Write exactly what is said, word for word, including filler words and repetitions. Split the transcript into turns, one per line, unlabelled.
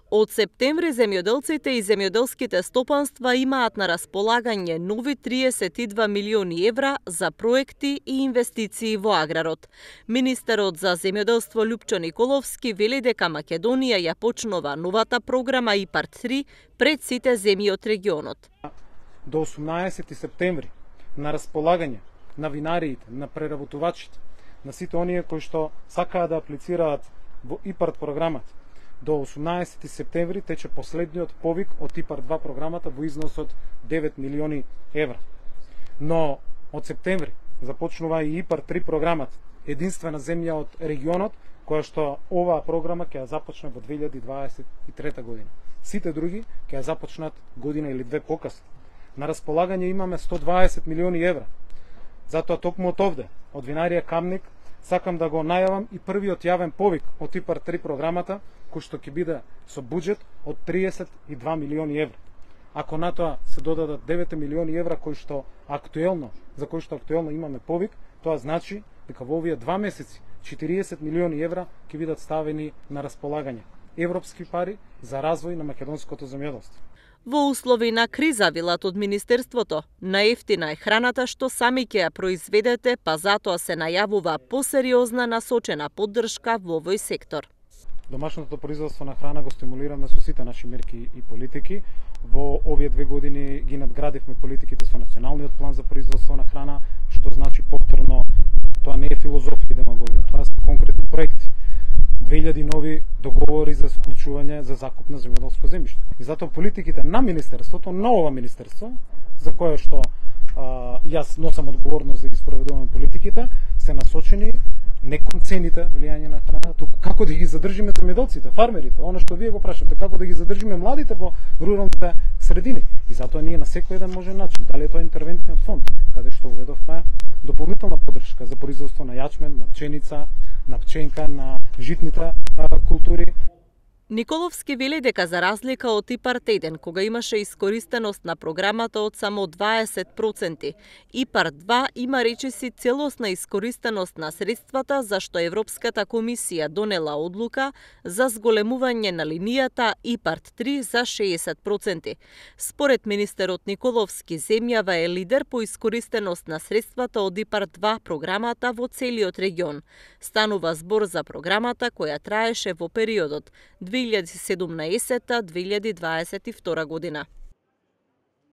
Од септември земјоделците и земјоделските стопанства имаат на располагање нови триесет и два милиони евра за проекти и инвестиции во аграрот. Министерот за земјоделство Љупчо Николовски вели дека Македонија ја почнува новата програма ИПАРД три пред сите земји од регионот.
До осумнаесети септември на располагање на винариите, на преработувачите, на сите оние кои што сакаат да аплицираат во ИПАРД програмата. До осумнаесети септември тече последниот повик од ИПАРД два програмата во износ од девет милиони евра. Но од септември започнува и ИПАРД три програмата, единствена земја од регионот која што оваа програма ќе ја започне во две илјади дваесет и трета година. Сите други ќе ја започнат година или две покасно. На располагање имаме сто дваесет милиони евра. Затоа токму од овде, од винарија Камник, сакам да го најавам и првиот јавен повик од ИПАРД три програмата, кој што ќе биде со буџет од триесет и два милиони евра. Ако на тоа се додадат девет милиони евра кои што актуелно, за кои што актуелно имаме повик, тоа значи дека во овие два месеци четириесет милиони евра ќе бидат ставени на располагање. Европски пари за развој на македонското земјоделство.
Во услови на криза, велат од Министерството, наевтина е храната што сами ќе ја произведете, па затоа се најавува посериозна насочена поддршка во овој сектор.
Домашното производство на храна го стимулираме со сите наши мерки и политики. Во овие две години ги надградивме политиките со националниот план за производство на храна, што значи повторно, тоа не е филозофија и демагогија, тоа се конкретни проекти. две илјади нови договори за склучување за закуп на земјоделско земјиште. И затоа политиките на Министерството, на ова Министерство, за кое што а, јас носам одговорност да ги спроведувам политиките, се насочени не кон цените влијање на храна, туку како да ги задржиме земјоделците, фармерите, оно што вие го прашате, како да ги задржиме младите во руралните средини. И затоа ние на секој еден можен начин, дали е тоа интервентниот фонд, каде што уведовме дополнителна поддршка за производство на јачмен, на пченица, на пченка, на житните а, култури.
Николовски вели дека за разлика од ИПАРД еден, кога имаше искористеност на програмата од само дваесет проценти, ИПАРД два има речиси целосна искористеност на средствата, зашто Европската комисија донела одлука за зголемување на линијата ИПАРД три за шеесет проценти. Според министерот Николовски, земјава е лидер по искористеност на средствата од ИПАРД два програмата во целиот регион. Станува збор за програмата која траеше во периодот две илјади седумнаесета до две илјади дваесет и втора година.